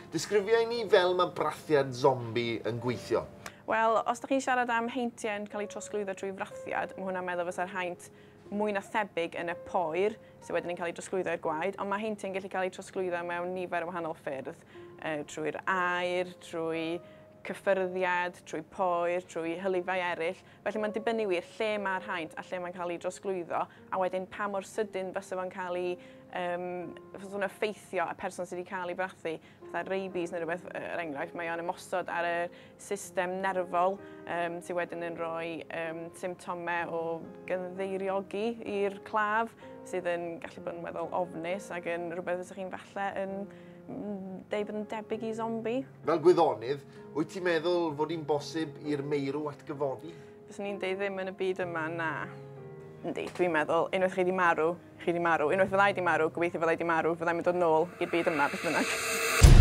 Disgrifia i ni fel mae brathiad zombie yn gweithio. Wel, os ydych chi'n siarad am heintiau yn cael eu trosglwyddo trwy frathiad, mae hwnna'n meddwl fysa'r haint mwy na thebyg yn y poer, sydd wedyn yn cael ei drosglwyddo i'r gwaed, ond mae heintiau'n gallu cael eu trosglwyddo mewn nifer o wahanol ffyrdd, trwy'r aer, trwy cyffyrddiad, trwy poer, trwy hylifau eraill. Felly mae'n dibynnu wir lle mae'r haint a lle mae'n cael ei drosglwyddo, a wedyn pa mor sydyn fysa fo'n cael ei, fysa fo'n effeithio y person sydd wedi cael ei frathu. Fatha rabies neu rhywbeth, er enghraifft, mae o'n ymosod ar y system nerfol sydd wedyn yn rhoi symptomau o gynddeiriogi i'r claf, sydd yn gallu bod yn weddol ofnus ac yn rhywbeth fysa chi'n falle yn deud bod yn debyg i zombie. Fel gwyddonydd, wyt ti'n meddwl fod hi'n bosib i'r meirw atgyfodi? Fyswn i'n deud ddim yn y byd yma, na. Yndi, dwi'n meddwl, unwaith chi 'di marw, chi 'di marw. Unwaith fyddai 'di marw, gobeithio fyddai 'di marw, fyddai'n mynd dod nôl i'r byd yma, beth bynnag.